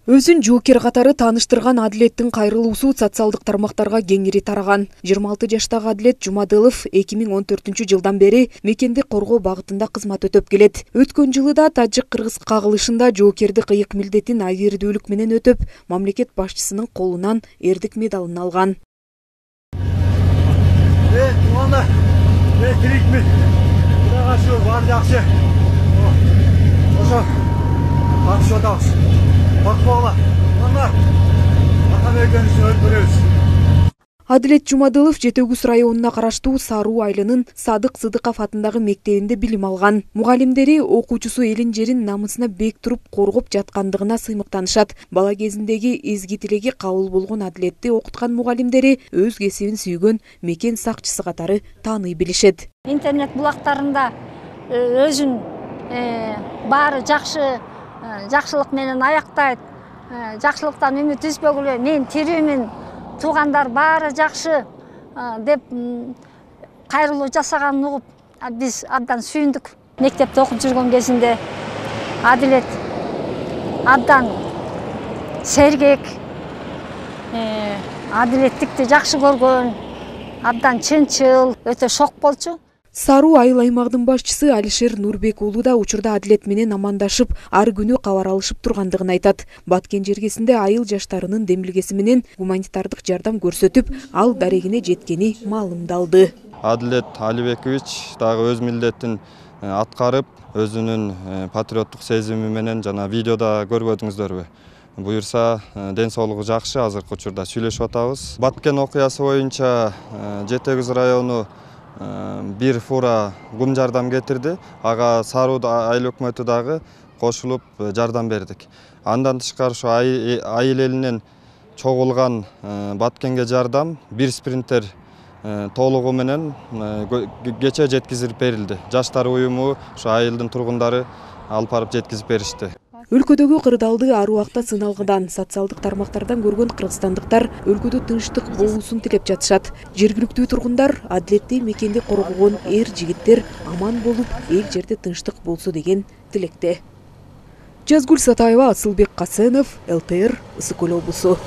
Өзүн жоокер катары тааныштырган Адилеттин кайрылуусу социалдык тармактарга кеңири тараган. 26 жаштагы Адилет Жумадылов 2014-жылдан бери мекенди коргоо багытында кызмат өтөп келет. Өткөн жылы да тажик-кыргыз кагылышында жоокердик ыйык милдетин айырдүүлүк менен өтөп, мамлекет башчысынын колунан эрдик медалын алган. Туугандар, тирикмин. Кудайга шүгүр, баары жакшы. Ошо катышып атабыз. Адилет Жумадылов Жетөгүз районуна караштуу Саруу айылынын Садык Сыдыков атындагы мектебинде билим алган. Мугалимдери окуучусу элин жерин намысына бек туруп коргоп жаткандыгына сыймыктанышат. Бала кезиндеги изги тилеги кабыл болгон Адилетти окуткан мугалимдери өз кесибин сүйгөн мекен сакчысы катары тааный билишет. Интернет булактарында өзүн баары жакшы жакшылык менен аяктайт. Жакшылыктан үмүт үзбөгүлө, мен тирүүмүн, туугандар баары жакшы деп кайрылуу жасаганын угуп, биз абдан сүйүндүк. Мектепте окуп жүргөн кезинде Адилет абдан сергек, адилеттикти жакшы көргөн, абдан чынчыл, өтө шок болчу. Саруу айыл аймагынын башчысы Алишер Нурбек уулу да учурда Адилет менен амандашып, ар күнү кабар алышып тургандыгын айтат. Баткен жергесинде айыл жаштарынын демилгеси менен гуманитардык жардам көрсөтүп, ал дарегине жеткени маалымдалды. Адилет Алибекович дагы өз милдетин аткарып, өзүнүн патриоттук сезими менен жана видеода көрбөдүңүздөрбү? Буюрса, ден соолугу жакшы, азыркы учурда сүйлөшүп атабыз. Баткен окуясы боюнча Жетөгүз району бир фура гум жардам кетирди. Ага Саруу айыл өкмөтү дагы кошулуп жардам бердик. Андан тышкары ушу айыл элинен чогулган Баткенге жардам бир спринтер толугу менен кече жеткизип берилди. Жаштар уюму ушу айылдын тургундары алып барып жеткизип беришти. Өлкөдөгү кырдаалды ар убакта сыналгыдан, социалдык тармактардан көргөн кыргызстандыктар өлкөдө тынчтык болуусун тилеп жатышат. Жергиликтүү тургундар Адилетти мекенди коргогон эр жигиттер аман болуп, эл жерде тынчтык болсо деген тилекте. Жазгүл Сатаева, Асылбек Касенов, ЛТР, Ысык Көл облусу.